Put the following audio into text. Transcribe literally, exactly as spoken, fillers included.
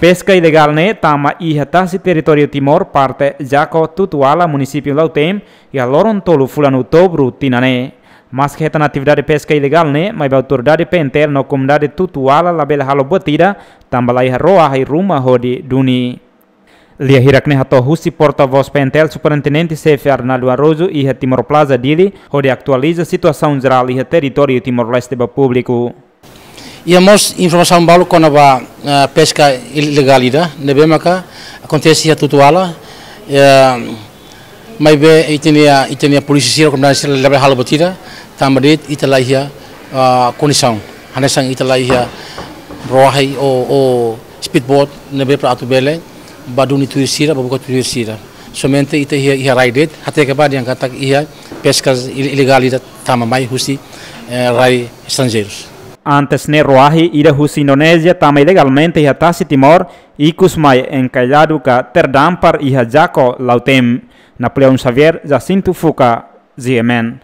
Peska ilegál ne'e tama iha tasi territóriu Timor, parte Jaco, Tutuala, munisípiu Lautém, iha loron tolu fulan Outubru tinan ne'e. Maske hetan atividade peska ilegál ne'e, maibé autoridade P N T L no komunidade Tutuala labele halo buat ida, tanba laiha roahi ruma hodi duni. Lia hirak ne'e hato'o husi porta-voz P N T L, Superintendente Xefe Arnaldo Araújo iha Timor Plaza, Dili, hodi atualiza situasaun jerál iha territóriu Timor-Leste ba públiku. Iha mós informasaun balu kona-ba, eh, peska ilegál ida ne'ebé maka akontese iha Tutuala, eh, maibé ita-nia, ita-nia polísia sira, komunidade sira labele halo buat ida, tanba de'it ita laiha, ah, kondisaun. Hanesan ita laiha roahi ou, ou speedboat ne'ebé para atu bele bá duni tuir sira, bá buka tuir sira. Somente ita iha, iha rai de'it, hateke ba dehan katak iha peska il-, ilegál ida tama mai husi, eh, rai estranjeirus. Antes ne'e roahi ida husi Indonézia tama ilegalmente iha tasi Timor, ikus mai enkailadu ka terdampar iha Jaco, Lautém. Napoleão Xavier, Jacinto Fuca, G M N.